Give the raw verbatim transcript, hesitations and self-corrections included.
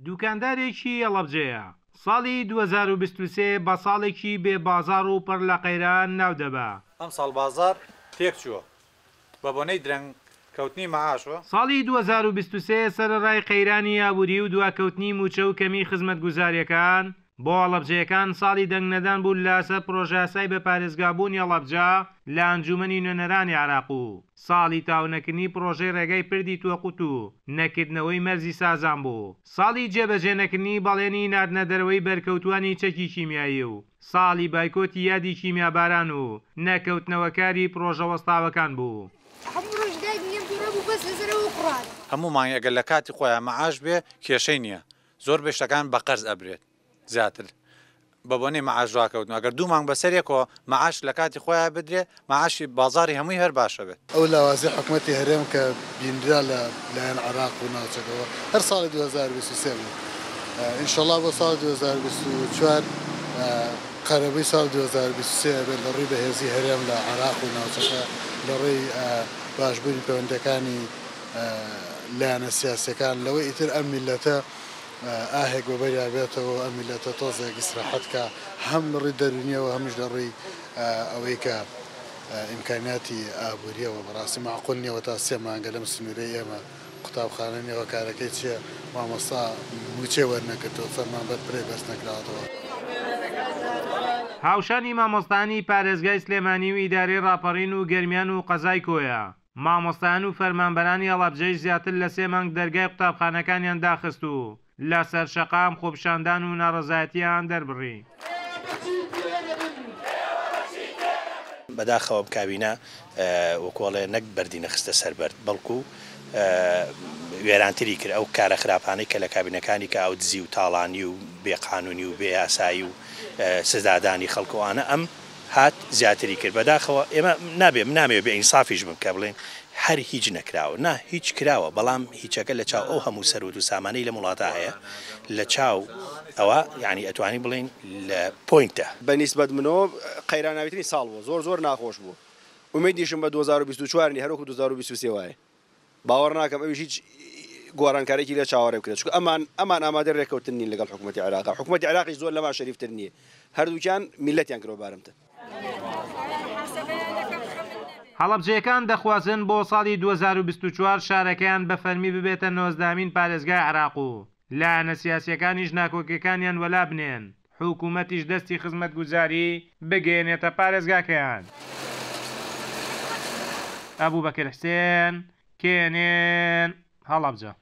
دوکاندارێکی هەڵەبجەیە ساڵی دوو هەزار و بیست و سێ بە ساڵێکی بێ بازاڕ و پڕ لە قەیران ناودەبا. ئەمساڵ بازاڕ تێکچووە بە بۆنەی درەنگ کەوتنی مەعاشەوە. ساڵی دوو هەزار و بیست و سێ سەرەڕای قەیرانی ئابووری و دواکەوتنی مووچە و کەمی خزمەتگوزارییەکان بۆ هەڵەبجەیەکان ساڵی دەنگ نەدان بوو لەسەر پرۆژەیاسای بە پارێزگابوونی هەڵەبجە لە ئەنجومەنی نوێنەرانی عێراق و ساڵی تاونەکردنی پرۆژەی ڕێگای پردی تۆقوت و نەکردنەوەی مەرزی سازان بوو. ساڵی جێبەجێ نەکردنی بەڵێنی ناردنە دەرەوەی بەرکەوتوانی چەکی کیمیایی و ساڵی بایکۆتی یادی کیمیاباران و نەکەوتنەوەکاری پرۆژە وەستاوەکان بوو. هەموو مانگ ئەگەر لە کاتی خۆیان مەعاش بێ کێشەی نییە، زۆر بەشتەکان بە قەرز ئەبرێت زیاتر بە بۆنەی مەعاش ڕاکەوتن. ئەگەر دوو مانگ بەسەرێکەوە مەعاش لە کاتی خۆیان بدرێ مەعاشی بازاری هەمووی هەر باشە بێت. ئەو لاوازی حکوومەتی هەرێم کە بینرا لە لایەن عێراق و ناوچەکەوە هەر ساڵی دوو هەزار و بیست و سێ بوو، ئینشەڵڵا بۆ ساڵی دوو هەزار و بیست و چوار قەرەبووی ساڵی دوو هەزار و بیست و سێ بێت لە ڕووی بەهێزی هەرێم لە عێراق و ناوچەکە، لە ڕووی باشبوونی پەیوەندەکانی لایەنە سیاسەکان، لەوەی ئیتر ئەم میلەتە ئاهێک بەبەریا بێتەوە، ئەم میلەتە تۆزێک ئیسراحەت کە هەم لە ڕووی دەرونیەوە هەمیش لە ڕووی ئەوەی کە ئیمکانیاتی ئابووریەوە. بەڕاستی معقول نییەوە تا سێ مانگە لەم سنوورەی ئێمە قوتابخانە نییەوە، کارەکەی چییە؟ مامۆستا مووچەی وەرنەگرتەوە، فەرمانبەر پرێ بەرز نەکراوەتەوە. هاوشانی مامۆستانی پارێزگای سلێمانی و ئیدارەی ڕاپەڕین و گەرمیان و قەزای کۆیە، مامۆستایان و فەرمانبەرانی هەڵەبجەی زیاتر لە سێ مانگ دەرگای قوتابخانەکانیان داخست و لەسەر شەقام خۆپیشاندان و ناڕەزایەتیان دەربڕی. بەداخەوە کابینە وەکۆڵێ نەک بەردی نەخستە سەر بەرد، بەڵکو وێرانتری کرد ئەو کارە خراپانەی کە لە کابینەکانی کە ئەو دزی و تاڵانی و بێقانونی و بێیاسایی و سزادانی خەڵکوانە ئەم هات زیاتری کرد. بەداخەوە ئێمە نابێ نامەوێ بێ ئینسافیش بم کە بڵێن هەر هیچ نەکراوە، نا هیچ کراوە، بەڵام هیچەکە لە چاو ئەو هەموو سەروەت و سامانەی لە وڵاتە هەیە لە چاو ئەوە یعنی ئەتوانی بڵێن لە پۆینتە. بەنیسبەت منەوە قەیراناویترین ساڵ بوو، زۆر زۆر ناخۆش بوو. ئومێدیشم بە دوو هەزار و بیست و چوار نی هەروەکو دوو هەزار و بیست و سێ وایە، باوەڕ ناکەم ئەویش هیچ گۆڕانکارێکی لێ چاوەڕێ بکرێت، چونکە ئەمان ئەمان ئامادە ڕێککەوتن نین لەگەڵ حکوومەتی عێراق. حکوومەتی عێراقیش زۆر لەمان شەریفتر نییە، هەردووکیان میلەتیان کردووە بارمتە. هەڵەبجەیەکان دەخوازن بۆ ساڵی دوو هەزار و بیست و چوار شارەکەیان بە فەرمی ببێتە نۆزدەهەمین پارێزگای عێراق و لایەنە سیاسیەکانیش ناکۆکیەکانیان وەلا بنێن، حکوومەتیش دەستی خزمەتگوزاری بگەیەنێتە پارێزگاکەیان. ئەبوبەکر حسێن، کێنێن، هەڵەبجە.